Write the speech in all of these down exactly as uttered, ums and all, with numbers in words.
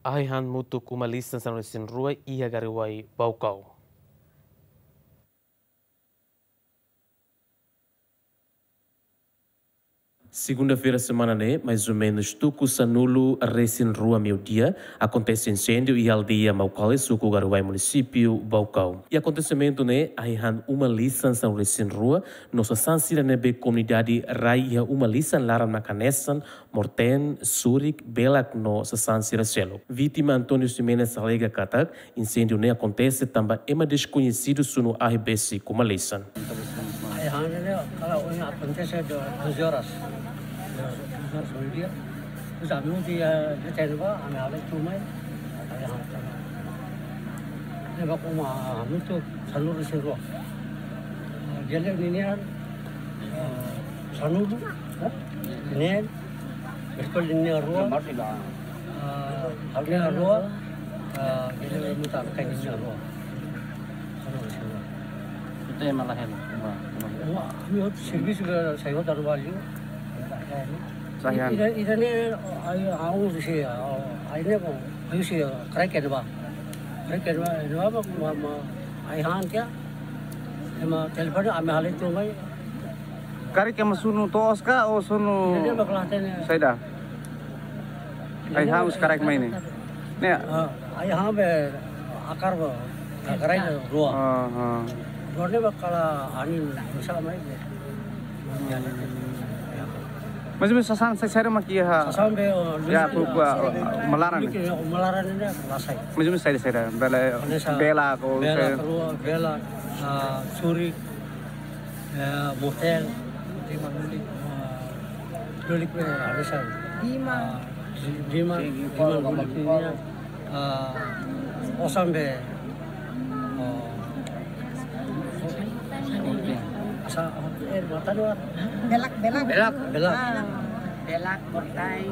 ahi-han mutuk uma-lisan sanulu-resin-rua iha Garoua, Baucau. Segunda-feira semana ne'e, mais ou menos tuku sanulu-resin-rua meiudia, akontese inséndiu iha aldeia Maucale, suku Garoua, munisípiu Baucau. Iha akontesimentu ne'e, ahi-han uma-lisan sanulu-resin-rua, no sasán sira ne'ebé komunidade rai iha uma-lisan laran mak hanesan, morten, surik, belak no sasán sira seluk. Vítima António Ximenes alega katak, inséndiu ne'e akontese tanba ema deskoñesidu sunu ahi besik uma-lisan. Ahi-han ne'e, kalau ini akontese do-, doze horas. Doze horas meiudia. Terus ami uti, eh, di tenda ba, ami halai tun mai. Ahi-han. Ne'ebé uma hamutuk sanulu-resin-rua. Gele ninian, eh, sanulu, eh, neen, berkol ninian rua, eh, halga rua, eh, gele mutar kain ninian rua. Sanulu-resin-rua. Itu yang malah yang, wah, wah. Wah, ami hotu servisu ke saya hotu anu bali. Sasán. Ida, ida-ne'e, ai, au si, ai ne'e ko, ai si, karik ida ba. Karik ida ba, ida ba, ma, ma, ahi-han tiha. Ema telefone, ami halai tun mai. Karik ema sunu to'os ka, ou sunu ida-ne'e ba kelas tene. Saida? Ahi-han husi karik mai ne'e. Ne'e. Ah, ahi-han be akar ba, akar ai rua. Ah, ah. Rua ne'e ba kala anin, bisa mai be. Mais ou menos sasán saida mak iha? Sasán be, oh, ya, lulik, ku, ku, ah, malaran. Lulik, malaran ne'e la sai. Mais ou menos saida, saida? Bela, hanesan bela ko bela, se- rua, bela, ah, surik, eh, morten, ah, lulik be, hanesan. Dima. Ah, dima, dima, lulik nian. Ah, osan be. Oh. Asa, eh, matan luar. Belak, belak. Belak. Belak. Ah. Belak, morten.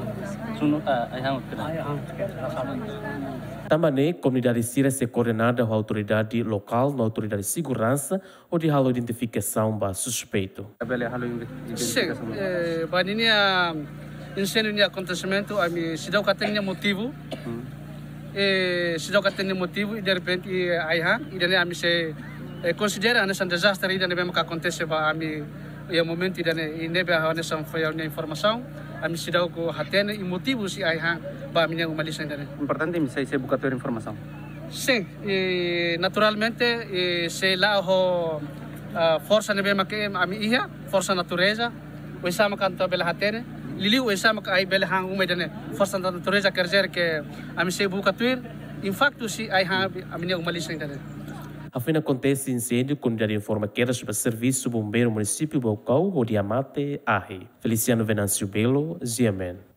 Sunu, ah, ahi-han. Ahi-han, rasa. Tanba ne'e, komunidade sira sei koordena ho autoridade lokál no autoridade seguransa, hodi halo identifikasaun ba suspeitu. Bele halo inve-, sin, identifikasaun. Eh, ba ninia inséndiu nia akontesimentu, ami seidauk hatene nia motivu. Hmm. Eh, seidauk hatene nia motivu, i derrepente, eh, ahi-han, ida-ne'e ami sei, eh, konsidera hanesan dezastre ida ne'ebé maka akontese ba ami, iha momentu ida-ne'e, i ne'ebé hanesan foin ha'u-nia informasaun, ami seidauk hatene, i motivu husi ahi-han, ba ami-nia uma-lisan ida-ne'e. Importante, ami sei, sei buka tuir informasaun. Sin, i naturalmente, i sei la'o ho, ah, forsa ne'ebé maka ami iha, forsa natureza, oinsá maka atu bele hatene, liuliu oinsá maka ai bele han uma ida-ne'e, forsa natureza quer dizer que ami sei buka tuir, impaktu husi ahi-han ami-nia uma-lisan ida-ne'e. Hafoin akontese inséndiu, komunidade informa kedas ba servisu bombeiru munisípiu Baucau, hodi hamate ahi. Feliciano Venâncio Belo, G M N.